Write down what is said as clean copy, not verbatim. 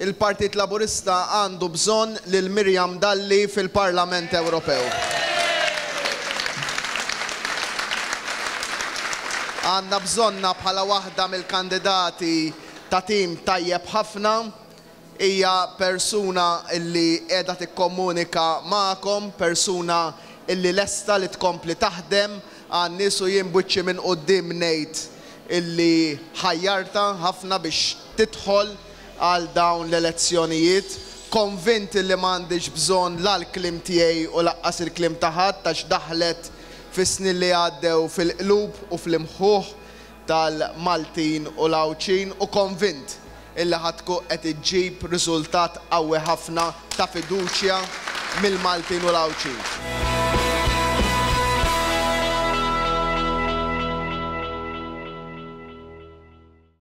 Il-Partit Laburista għandu bżonn lil Miriam Dalli fil-Parlament Ewropew. Għandna bżonnha bħala waħda mill-kandidati ta' tim tajjeb ħafna. Hija persuna li qiegħda tikkomunika magħkom, persuna li lesta li tkompli taħdem għan-nies u jien b'wiċċi minn quddiem ngħid illi ħajjartha ħafna biex tidħol għal dawn l-elezzjonijiet, konvint illi m'għandhiex bżonn la l-kliem tiegħi u laqqas il-kliem ta' ħadd għax daħlet fis-snin li għaddew fil-qlub u fl-imħuħ tal-Maltin u l-Għawdxin u konvint illi ħa tkun qed iġġib riżultat qawwi ħafna ta' fiduċja mill-Maltin u l-Għawdxin.